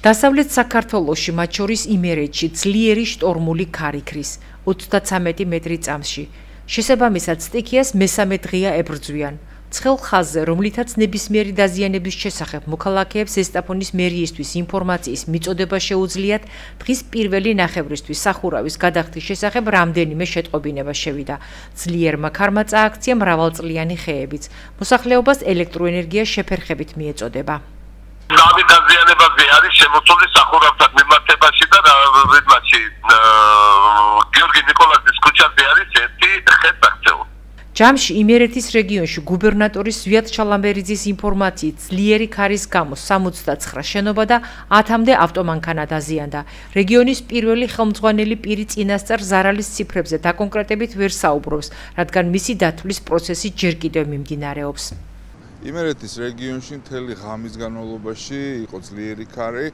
დასავლეთ საქართველოში, მათ შორის იმერეთში, ძლიერი შტორმული ქარი ქრის 33 მეტრი წამსში. შესაბამისად, სტიქიას მესამე დღეა ებრძვიან. ცხელ ხაზზე, რომლითაც ნებისმიერი დაზიანების შესახებ მოქალაქეებს ზესტაფონის მერიისთვის ინფორმაციის მიწოდება შეუძლიათ, დღის პირველი ნახევრისთვის სახურავის გადახდის შესახებ რამდენიმე შეტყობინება შევიდა. ძლიერმა ქარმა წააქცია მრავალწლიანი ხეებიც. მოსახლეობას ელექტროენერგია შეფერხებით მიეწოდება. Nami დაზიანებაზე არის შემოწმული სახურავთან მიმართებაში და რიდმაში გიორგი ნიკოლაძის ქუჩაზე არის ერთი ხეთაქცეო. ჯამში იმერეთის რეგიონში გუბერნატორის ზვიად ჩალამბერიძის ინფორმაციით ძლიერი ქარის გამო 69 შენობა და 10-მდე ავტომანქანა დაზიანდა. რეგიონის პირველი ხელმძღვანელი პირი წინასწარ ზარალის ციფრებზე დაკონკრეტებით ვერ საუბრობს, რადგან მისი დათვლის პროცესი ჯერ კიდევ მიმდინარეობს. იმერეთის რეგიონში მთელი ღამის განმავლობაში იყო ძლიერი ქარი,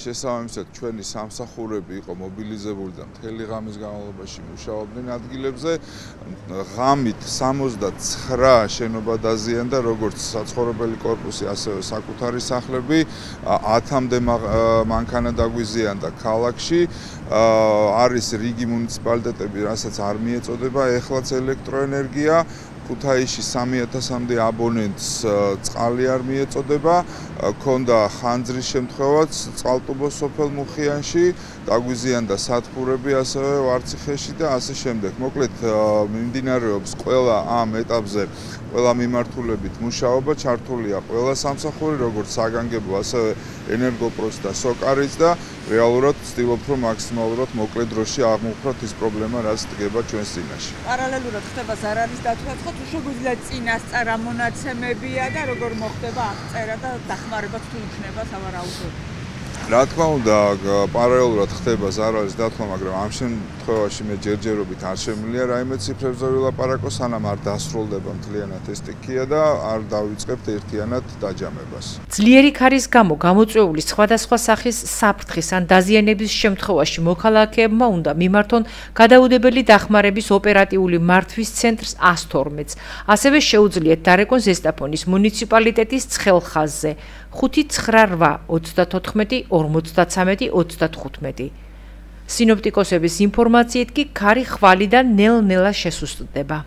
შესაბამისად ჩვენი სამსახურები იყო მობილიზებული და მთელი ღამის განმავლობაში მუშაობდნენ ადგილებზე. ღამით 69 შენობა დაზიანდა, როგორც საცხოვრებელი კორპუსი, ასევე საკუთარი სახლები, 10-მდე მანქანა დაგვიზიანდა ქალაქში. არის რიგი მუნიციპალიტეტები, რასაც არ მიეწოდება ეხლაც ელექტროენერგია. ქუთაისში 3000-მდე აბონენტს წყალი არ მიეწოდება, ქონდა ხანძრის შემთხვევაც წყალტუბოს სოფელ მუხიანში, დაგვიზიანდა სათბურები ასევე ვარციხეში და ასე შემდეგ. მოკლედ მიმდინარეობს ყველა ამ ეტაპზე ყველა მიმართულებით მუშაობა, ჩართულია ყველა სამსახური, როგორც საგანგებო, ასევე ენერგოპროს და სოკარიც და რეალურად ვცდილობ, რომ მაქსიმალურად მოკლე დროში აღმოვხვრათ ის პრობლემა, რაც დგება ჩვენს წინაშე. პარალელურად ხდება ზარალის დათვლა, თუ შეგვიძლია წინასწარ ამონაცემებია და როგორ მოხდება აღწერა და დახმარება თუ იქნება სავარაუდოდ. რა თქმა უნდა, პარალელურად ხდება ზარალის დათვლა, მაგრამ ამ შემთხვევაში მე ჯერჯერობით არ შემიძლია რაიმე ციფრებზე ვილაპარაკო, სანამ არ დასრულდება მთლიანად ეს სტიქია და არ დავიწყებთ ერთიანად დაჯამებას. ძლიერი ქარის გამო გამოწვეული სხვადასხვა სახის საფრთხის ან დაზიანების შემთხვევაში მოქალაქეებმა უნდა მიმართონ გადაუდებელი დახმარების ოპერატიული მართვის ცენტრს 112-ს. ასევე შეუძლიათ დარეკონ ზესტაფონის მუნიციპალიტეტის ცხელ ხაზზე 598 54 35. სინოპტიკოსების ინფორმაციით კი ქარი ხვალიდან ნელ-ნელა შესუსტდება.